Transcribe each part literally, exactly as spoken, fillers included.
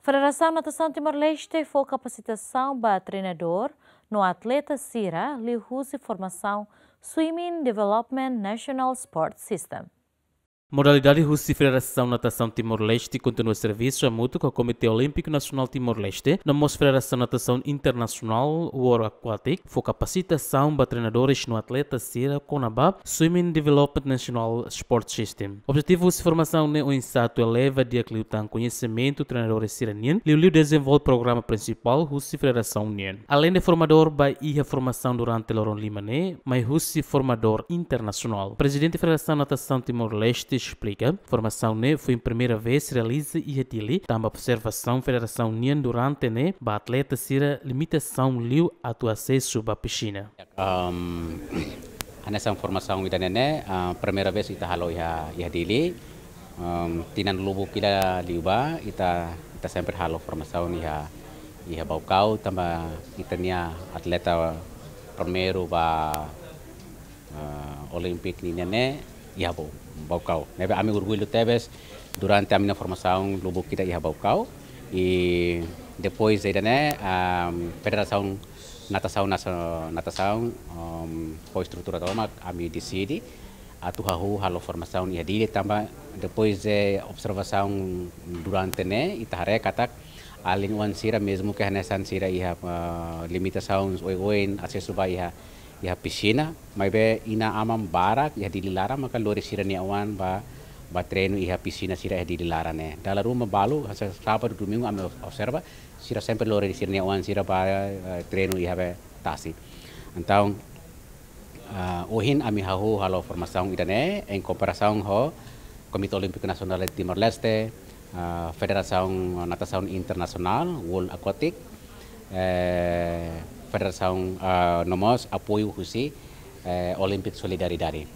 Federasaun Natasaun Timor-Leste fó kapasitasaun ba treinadór no atleta sira liuhusi formasaun Swimming Development National Sport System. Modalidade husi Federasaun Natasaun Timor-Leste kontinua servisu hamutuk ho Komité Olímpiku Nasionál Timor-Leste, no mós Federasaun Natasaun Internasionál World Aquatic fó kapasitasaun ba treinadores no atleta sira kona-ba Swimming Development National Sport System. Objetivu husi formasaun ne'e oinsá atu eleva di'ak liután koñesimentu treinadores sira-nian, liuliu dezenvolve programa prinsipál husi federasaun nian. Aleinde formadór ba iha formasaun durante loron lima ne'e, mai husi formadór internasionál. Prezidente Federasaun Natasaun Timor-Leste esplika, formasaun ne'e foin primeira vez realiza iha Dili, tanba observasaun federasaun nian durante ne'e ba atleta sira limitasaun liu atu asesu ba pisina. Ehm, hanesan formasaun ida-ne'e ne'e, ah, primeira vez ita halo iha, iha Dili. Ehm, tinan lubuk ida liubá, ita, ita sempre halo formasaun iha, iha Baucau, tanba ita-nia atleta primeiru ba, ah, Olímpiku ninian ne'e iha Bau-, Baucau. Ne'ebé ami orgullu tebes durante ami-nia formasaun lubuk ida iha Baucau. I depois ida-ne'e, ehm, Federasaun Natasaun Naso-, Natasaun, ehm, fó estrutura tomak, ami deside atu hahú halo formasaun iha Dili tanba depois de observasaun durante ne'e, ita haree katak alin-oan sira mezmu ke hanesan sira iha, eh, limitasaun oioin asesu ba iha, iha pisina, maibé inan-aman barak iha Dili laran maka lori sira-nia oan ba, ba treinu iha pisina sira iha Dili laran ne'e. Dala ruma balu, hanesan sábadu, domingu, ami observa, sira sempre lori sira-nia oan sira ba, eh, treinu iha be tasi. Entaun, ah, ohin ami hahú halo formasaun ida-ne'e, em comparação ho Komité Olímpiku Nasionál de Timor-Leste, ah, Federasaun Natasaun Internasionál, World Aquatic, eh, Federasaun, ah, no mós apoiu husi, eh, Olympic Solidarity.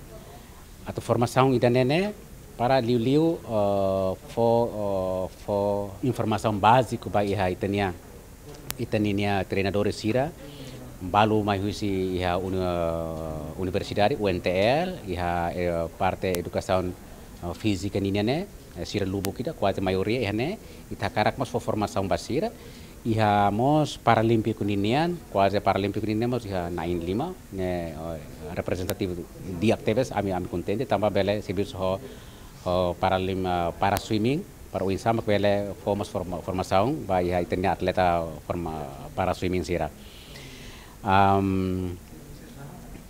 Atu formasaun ida-ne'e ne'e para liuliu, eh, fó, eh, fó informasaun báziku ba iha ita-nia, ita-nia treinadores sira, balu mai husi iha uni-, universidade, U N T L, iha, eh, parte edukasaun, eh, fízika ninian ne'e, eh, sira lubuk ida, kuaze maioria iha ne'e, ita hakarak mós fó formasaun ba sira, iha mós Paralímpiku ninian, kuaze Paralímpiku ninian mós iha na'in lima, ne'e, eh, reprezentativu di'ak tebes, ami, ami kontente, tanba bele servisu ho, ho Paralim-, eh, para swimming, para oinsá mak bele fó mós forma-, formasaun ba iha ita-nia atleta forma-, para swimming sira. Am,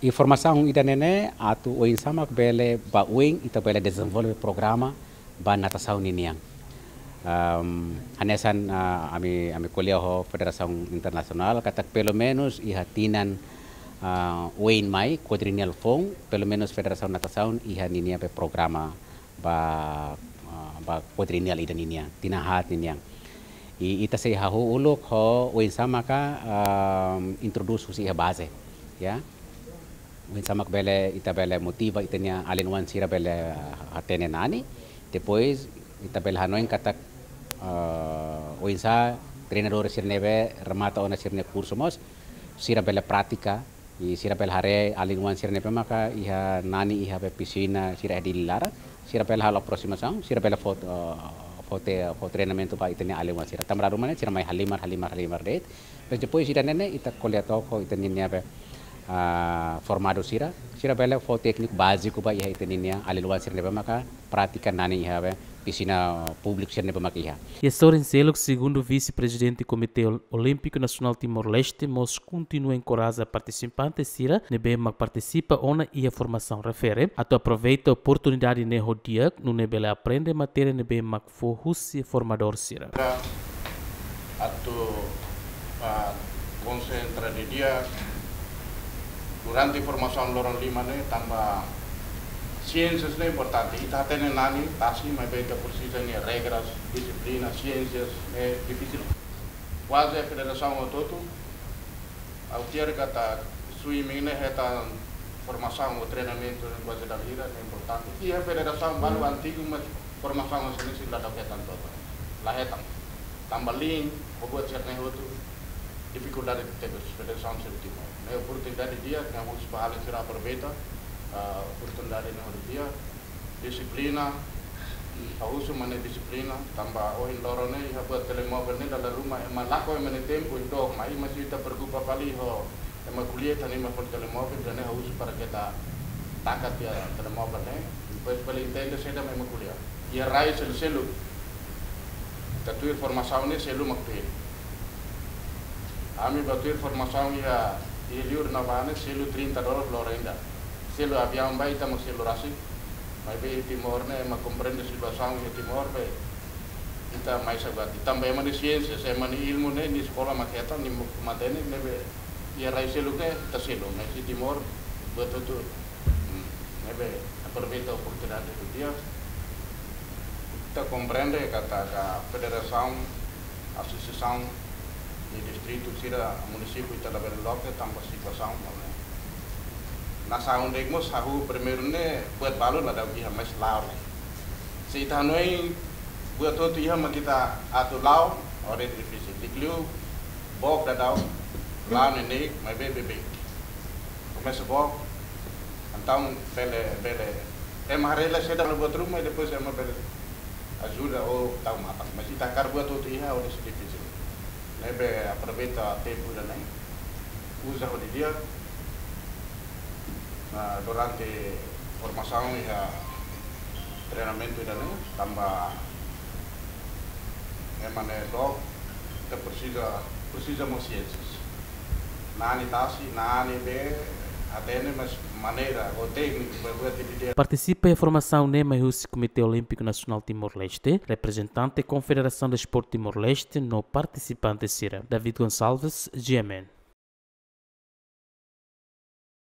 i formasaun ida-ne'e ne'e atu oinsá mak bele ba oin ita bele dezenvolve programa ba natasaun ninian. Am, hanesan, ah, ami, ami ko'alia ho Federasaun Internasionál, katak pelumenus iha tinan, ah, oin mai, kuadrienial foun, pelumenus Federasaun Natasaun iha ninia be programa ba, ah, ba kuadrienial ida ninian, tinan haat ninian. I ita sei hahú uluk ho oinsá maka, am, introdús husi iha baze, ya. Oinsá mak bele, ita bele motiva ita-nia alin-oan sira bele hatene nani. Depois, ita bele hanoin katak, ah, oinsá treinadór sira ne'ebé remata ona sira-nia kursu mós, sira bele pratika, i sira bele haree alin-oan sira ne'ebé maka iha nani iha be pisina sira iha Dili laran, sira bele halo aproximasaun, sira bele fó, ah, fó te-, fó treinamentu ba ita-nia alin-oan sira. Tanba dala ruma ne'e sira mai halimar, halimar, halimar de'it. Mas depois ida-ne'e ne'e ita ko'alia took ho ita-nia be, ah, formadu sira, sira bele fó tékniku báziku ba iha ita-nia alin-oan sira ne'ebé maka pratika nani iha be pisina públiku sira ne'ebé maka iha. Iha sorin seluk, segundu Vise-Prezidente Komité Ol-, Olímpiku Nasionál Timor-Leste mós kontinua enkoraja partisipante sira ne'ebé mak partisipa ona iha formasaun refere atu aproveita oportunidade ne'e ho di'ak, nune'e bele aprende matéria ne'ebé mak fó husi formadór sira. Atu, ah, konsentra didi'ak durante formasaun loron lima ne'e, tanba siénsias ne'e importante. Ita hatene nani tasi, maibé ita presiza nia regras, dixiplina, siénsias ne'e difisil. Kuaze federasaun hotu-hotu, ha'u fiar katak swimming ne'e hetan formasaun ou treinamentu ne'e kuaze dala hira ne'e importante. Iha federasaun balu antigu, mas formasaun hanesan ne'e sira la hetan total. La hetan. Tanba liin, ho buat sira-ne'e hotu, difikuldade tebes federasaun sira Timor. Ne'e oportunidade di'ak, ne'e ha'u husu ba alin sira aproveita, ah, oportunidade ne'e hotu di'ak, dixiplina, Ha'u husu mak ne'e dixiplina, tanba ohin loron ne'e iha buat telemovel ne'e dala ruma ema lakon ema nia tempu ida, mai ema sei ita preokupa fali ho ema ko'alia, ita-nia ema fali telemovel, ida-ne'e ha'u husu para ke ita taka tiha telemovel ne'e, depois bele entende saida mak ema ko'alia. Iha rai selu-selu, ita tuir formasaun ne'e selu mak tuir. Ami bá tuir formasaun iha, iha liur ne'ebá ne'e selu trinta dolar lorenda. Selu aviaun bá ita mak selu rasik. Maibé Timor ne'e ema komprende situasaun iha Timor be ita mai sabat. Tanba ema nia siénsia, ema nia ilmu ne'e, nia eskola mak hetan, nia matenek, ne'ebé iha rai seluk ne'e ita selu. Mas iha Timor buat hotu, hmm, ne'ebé aproveita oportunidade hotu di'ak. Ita komprende katak federasaun, asosiasaun iha distritu sira, munisípiu ita labele loke tanba situasaun ne'e. Nasaun de'it mós hahú primeiru ne'e buat balu la dau iha, mas la'o ne'e. Se ita hanoin buat hotu iha mak ita atu la'o, agora difisil. Di'ak liu book daudaun, la'o neineik, maibé beibeik. Komesa book, entaun bele, bele, ema haree la saida buat ruma, i depois ema bele ajuda ou tau matan. Mas ita hakarak buat hotu iha, agora sei difisil. Ne'ebé aproveita tempu ida-ne'e, uza ho di'ak, ah, durante formasaun iha treinamentu ida-ne'e, tanba ema ne'e dook, ita presiza, presiza mós siénsia. Na'in tasi, na'in be, hatene, mas maneira ou tékniku ba buat ida-ne'e. Partisipa iha formasaun ne'e mai husi Komité Olímpiku Nasionál Timor-Leste, reprezentante Konfederasaun Desportu Timor-Leste no partisipante sira. David Gonçalves, G M N.